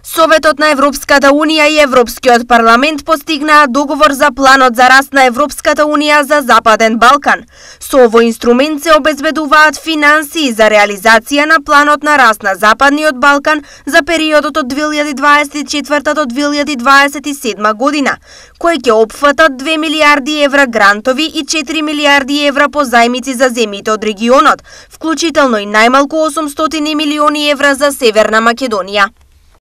Советот на Европската Унија и Европскиот парламент постигнаа договор за планот за раст на Европската Унија за Западен Балкан. Со овој инструмент се обезбедуваат финансии за реализација на планот на раст на Западниот Балкан за периодот од 2024 до 2027 година, кој ќе опфатат 2 милиарди евра грантови и 4 милиарди евра по зајмици за земјите од регионот, вклучително и најмалку 800 милиони евра за Северна Македонија.